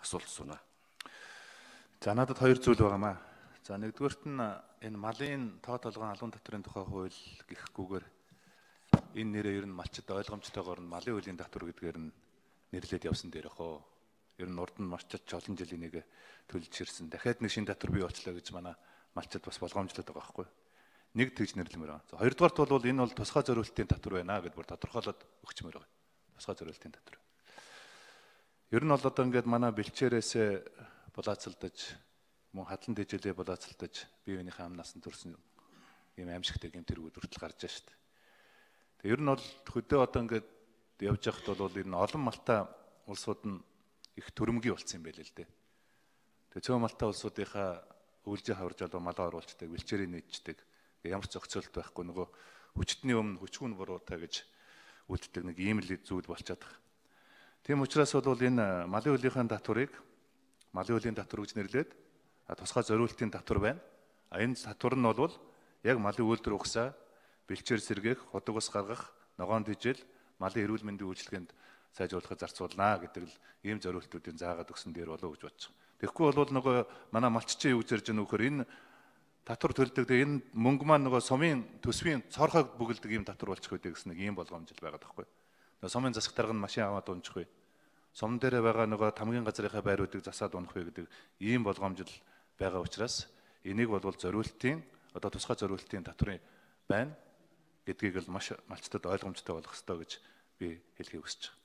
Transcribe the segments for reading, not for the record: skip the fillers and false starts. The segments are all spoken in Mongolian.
асуулт асууна. За надад хоёр зүйл байгаамаа. За нэгдүгээрт нь энэ малын тоо толгойн албан татврын тухай хууль гэхгүйгээр энэ нэрээ ер нь малчид ойлгомжтойгоор нь малын үеийн татвар гэдгээр нь нэрлээд явсан дээр хөө. Ер нь урд нь малчид олон жилийн нэг төлж ирсэн. Дахиад нэг шинэ татвар бий болчлоо гэж манай малчид бас болгоомжлоод байгаа байхгүй. Нэг тэгж нэрлэмээр байна. За хоёрдугаарт бол энэ бол тусгай зориултын татвар байна гэдээ бүр тодорхойлоод өгчмээр байгаа. Тусгай зориултын татвар. Ер нь бол одоо ингээд манай бэлчээрээс булаацалдаж мөн хадлан дэжлээ булаацалдаж бие биенийхээ амнаас нь төрсэн ийм аимшигтай гэмтэргүүд хүртэл гарч байгаа шүү дээ. Тэгээ ер нь бол хөдөө одоо ингээд явж байхад бол энэ олон малтай улсууд нь их төрөмгий болсон юм байл л дээ. Тэгээ цөөн малтай улсуудынхаа өвлжийн хаварж одоо малаа оруулцдаг, бэлчээрийг нийцдэг. Ямар ч зохицуулт байхгүй нөгөө хүчтний өмнө хүчгүүн буруутай гэж үлддэг нэг ийм л зүйл болчиход байгаа. Тийм учраас бол энэ малын үлийнхэн татварыг малын үлийн татвар гэж нэрлээд тусгай зориултын татвар байна. Энэ татвар нь бол яг малын үйлдвэр ухсаа, бэлчээр сэргээх, худаг ус гаргах, ногоон дижил, малын эрүүл мэндийн үйлчилгээнд сайжруулахад зарцуулнаа гэдэг л ийм зориултуудыг заагаад өгсөн дээр болов гэж бодож байгаа. Тэгэхгүй бол нөгөө манай малччин юу гэж ярьж байгаа нөхөр энэ татвар төлдөг. Тэгээ энэ мөнгө маань нөгөө сумын төсвийн цорхойг бүгэлдэг ийм татвар болчих үү гэсэн нэг ийм болгоомжл байгаа байхгүй. Нөгөө сумын засаг дарга нь машин аваад унчих вэ. Сум дээр байгаа нөгөө тамгийн газрынхаа байруудыг засаад унах вэ гэдэг ийм болгоомжл байгаа учраас энийг бол зориултын одоо тусгай зориултын татврын байна гэдгийг л маш малчтад ойлгомжтой болох хэрэгтэй гэж би хэлхийг хүсэж байна.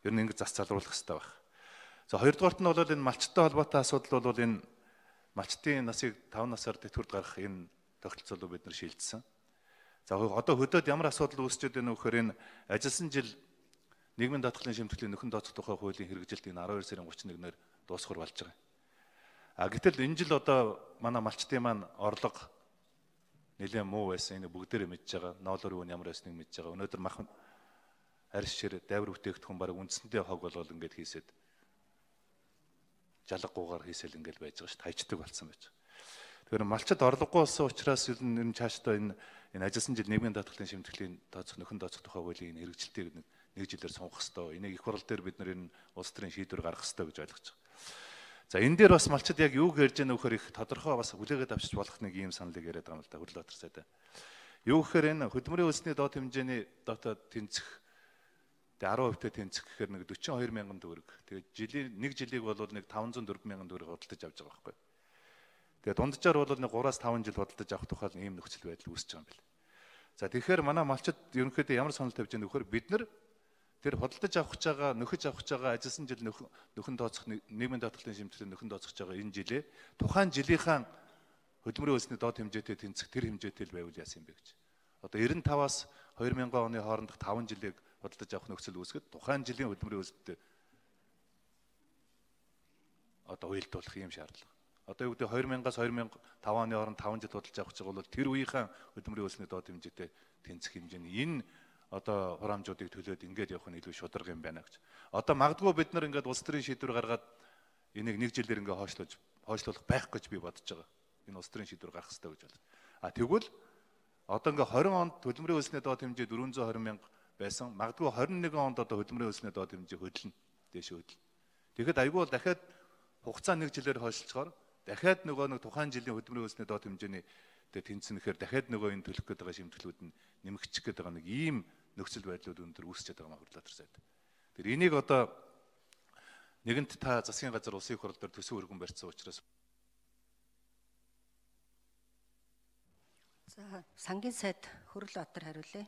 Ер нь ингэ зас залруулах хэрэгтэй байна. За хоёрдугаарт нь бол энэ малчтай холбоотой асуудал бол энэ малчтын насыг 5 насаар тэтгэврт гаргах энэ тогтолцоолыг бид нар шийдсэн. За одоо хөдөөд ямар асуудал үүсчихэд байна вэ гэхээр энэ ажилласан жил нийгмийн даатгалын шимтгэлийн нөхөн тооцох тухай хуулийн хэрэгжилт энэ 12 сарын 31-нд дуусгар болж байгаа. Гэтэл энэ жил одоо манай малчтын маань орлого нэлээд муу байсан. Энэ бүгдээрээ мэдж байгаа. Ноолор юу ямар байсныг мэдж байгаа. Өнөөдөр махан арьс шир дайвар бүтээгдэхүүн баг үндсэндээ хог болгол ингээд хийсэд жалгагуугаар хийсэл ингээд байж байгаа шүү дээ. Хайчдаг болсон байж байгаа. Тэгэхээр малчид орлогогүй болсон учраас ер нь цаашдаа энэ ажилласан жил нийгмийн даатгалын шимтгэлийн тооцох нөхөн тооцох тухай хуулийн хэрэгжилтийг нэг жилээр сонгох хэрэгтэй. Энийг их хурал дээр бид нар энэ улс төрийн шийдвэр гаргах хэрэгтэй гэж ойлгож байгаа. За энэ дээр бас малчид яг юу гэж ярьж байгаа нөхөр их тодорхой бас хүлээгээд авчиж болох нэг ийм саналыг яриад байгаа юм л да Хөрлөбатар сайдаа. Юу гэхээр энэ хөдөлмөрийн үлсний доод хэмжээний дотоод тэнцэх 10% тэнцэх гэхээр нэг 42 мянган төгрөг. Тэгээд нэг жилиг бол нэг 504 мянган төгрөг худалдаж авч байгаа байхгүй. Тэгээд дунджаар бол нэг 3-5 жил худалдаж авах тухай ийм нөхцөл байдал үүсэж байгаа юм байна. За тэгэхээр манай малчид ерөнхийдөө ямар санал тавьж байгаа нөхөр бид нар тэр худалдаж авах гэж байгаа, нөхөж авах гэж байгаа ажилласан жил нөхөн тооцох нийгмийн даатгалын шимтгэлийн нөхөн тооцох гэж байгаа энэ жилээ тухайн жилийнхаа хөдөлмөрийн үлсний доод хэмжээтэй тэнцэх тэр хэмжээтэй л байвал яасан юм бэ гэж. Одоо 95-аас 2000 оны хоорондох 5 жилийг худалдаж авах нөхцөл үүсгэхэд тухайн жилийн хөдөлмөрийн үлстэй одоо уялдуулах юм шаардлага. Одоо юу гэдэг 2000-аас 2005 оны хооронд 5 жил худалдаж авах гэж байгаа бол тэр үеийнхээ хөдөлмөрийн үлсний доод хэмжээтэй тэнцэх хэмжээний энэ одоо хураамжуудыг төлөөд ингээд явах нь илүү шударга юм байна гэж. Одоо магадгүй бид нар ингээд улс төрийн шийдвэр гаргаад энийг нэг жилээр ингээд хойшлуулах байх гэж би бодож байгаа. Энэ улс төрийн шийдвэр гарах хэрэгтэй гэж байна. Тэгвэл одоо ингээд 20 онд хөдөлмөрийн үлсний доод хэмжээ 420 мянга байсан. Магадгүй 21 онд одоо хөдөлмөрийн үлсний доод хэмжээ хөдлөн дээш хөдлөн. Тэгэхэд айгүй бол дахиад хугацаа нэг жилээр хойшлцохоор дахиад нөгөө нэг тухайн жилийн хөдөлмөрийн үлсний доод хэмжээний тэнцэнэхээр дахиад нөгөө энэ төлөх гээд байгаа шимтгэлүүд нь нэмэгдчих гээд байгаа нэг ийм нөхцөл байдлууд өндөр үүсчихэд байгаа маа Хөрлөбатар сайд. Тэр энийг одоо нэгэнт та засгийн газар улсын их хурал дээр төсөв өргөн барьсан учраас за сангийн сайд Хөрлөбатар хариулъя.